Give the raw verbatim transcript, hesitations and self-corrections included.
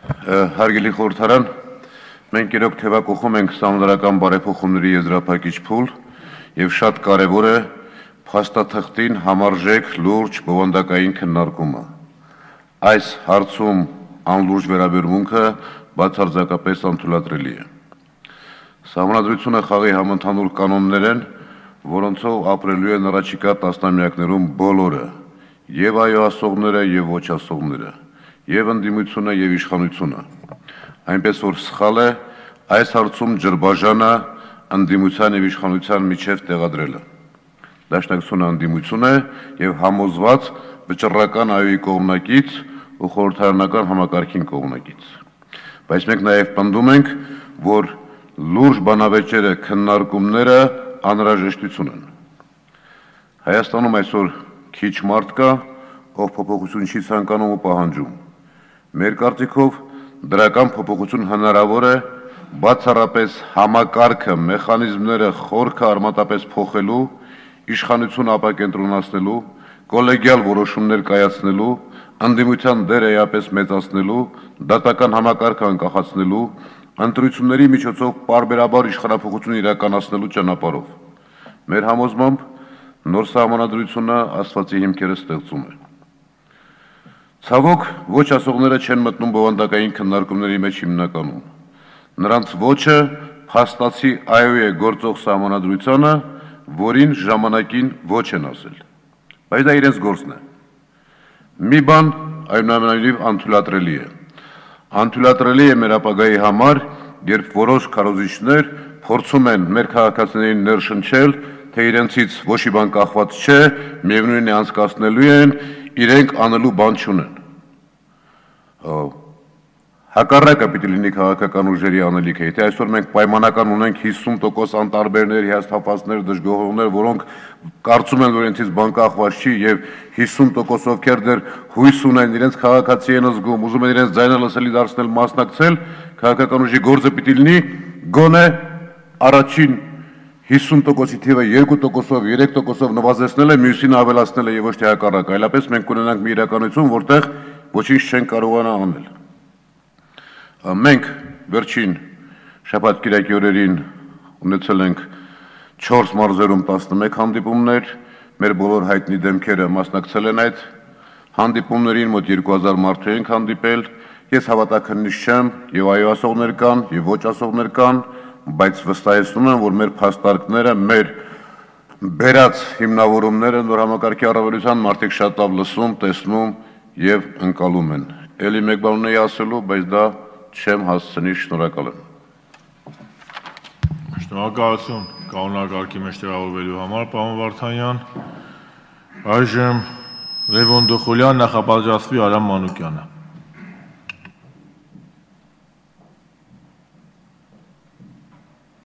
Հարգելի խորհրդարան, մենք իրոք թևակողում ենք սահմանադրական բարեփոխումների եզրափակիչ փուլ եւ շատ կարեւոր է փաստաթղթին համարժեք լուրջ բովանդակային քննարկումը։ Այս հարցում անլուրջ վերաբերմունքը բացարձակապես անթույլատրելի է։ Սահմանադրությունը խաղի համընդհանուր կանոններ են, որոնցով ապրելու են առաջիկա տասնամյակներում բոլորը, եւ այո ասողները եւ ոչ ասողները, եւ ընդդիմությունը եւ իշխանությունը, այնպես որ սխալ է այս հարցում ջրբաժանը ընդդիմության եւ իշխանության միջև տեղադրելը։ Դաշնակցությունը ընդդիմություն է եւ համոզված վճռական այոյի կողմնակից ու խորհրդարանական համակարգին կողմնակից։ Բայց մենք նաեւ պնդում ենք, որ լուրջ բանավեճերը քննարկումները անհրաժեշտություն են։ Հայաստանում այսօր քիչ մարդ կա, ով փոփոխություն չի ցանկանում ու պահանջում։ Մեր կարծիքով դրական փոփոխություն հնարավոր է բացառապես համակարգը, մեխանիզմները խորքը արմատապես փոխելու, իշխանություն ապակենտրոնացնելու, կոլեգիալ որոշումներ կայացնելու, ընդդիմության դերը էապես մեծացնելու, դատական համակարգը անկախացնելու, ընտրությունների միջոցով պարբերաբար իշխանափոխություն իրականացնելու ճանապարհով։ Մեր համոզմամբ նոր սահմանադրությունը աստվածի հիմքերը ստեղծում է։ Ցավոք, ոչ ասողները չեն մտնում բովանդակային քննարկումների մեջ հիմնականում։ Նրանց ոչը փաստացի այո է գործող սահմանադրությանը, որին ժամանակին ոչ են ասել։ Բայց դա իրենց գործն է։ Մի բան այնուամենայնիվ անթույլատրելի է։ Անթույլատրելի է մեր ապագայի համար, երբ որոշ քարոզիչներ փորձում են մեր քաղաքացիներին ներշնչել, թե իրենցից ոչ մի բան կախված չէ, միևնույն է անցկացնելու են, իրենք անելու բան չունեն։ Հակառակը պիտի լինի քաղաքական ուժերի անելիքը, եթե այսօր մենք պայմանական ունենք հիսուն տոկոս անտարբերներ, հիասթափվածներ, դժգոհողներ, որոնք կարծում են, որ իրենցից բան կախված չի եւ հիսուն տոկոս ովքեր դեռ հույս ունեն, իրենց քաղաքացի են զգում, ուզում են իրենց ձայնը լսելի դարձնել, մասնակցել, քաղաքական ուժի գործը պիտի լինի գոնե առաջին հիսուն տոկոսի թիվը երկու տոկոսով, երեք տոկոսով նվազեցնել է, մյուսին ավելացնել է եւ ոչ թե հակառակը, այլապես մենք կունենանք մի իրականություն, որտեղ ոչինչ չեն կարողանա անել։ Մենք վերջին շաբաթ-կիրակի օրերին ունեցել ենք չորս մարզերում տասնմեկ հանդիպումներ, մեր բոլոր հայտնի դեմքերը մասնակցել են այդ հանդիպումներին, մոտ երկու հազար մարդու ենք հանդիպել, ես հավատաքննիչ չեմ, եւ այո ասողներ կան, եւ ոչ ասողներ կան, բայց վստահեցնում եմ, որ մեր փաստարկները, մեր բերած հիմնավորումները նոր համակարգի առավելության մարդիկ շատ լավ լսում, տեսնում եւ ընկալում են։ Էլի մեկ բան ունեի ասելու, բայց դա չեմ հասցնի, շնորհակալ եմ։ Շնորհակալություն կանոնակարգի մեջ տեղավորվելու համար, պարոն Վարդանյան։ Այժմ Լևոն Դոխոլյան, նախապատրաստվի Արամ Մանուկյանը։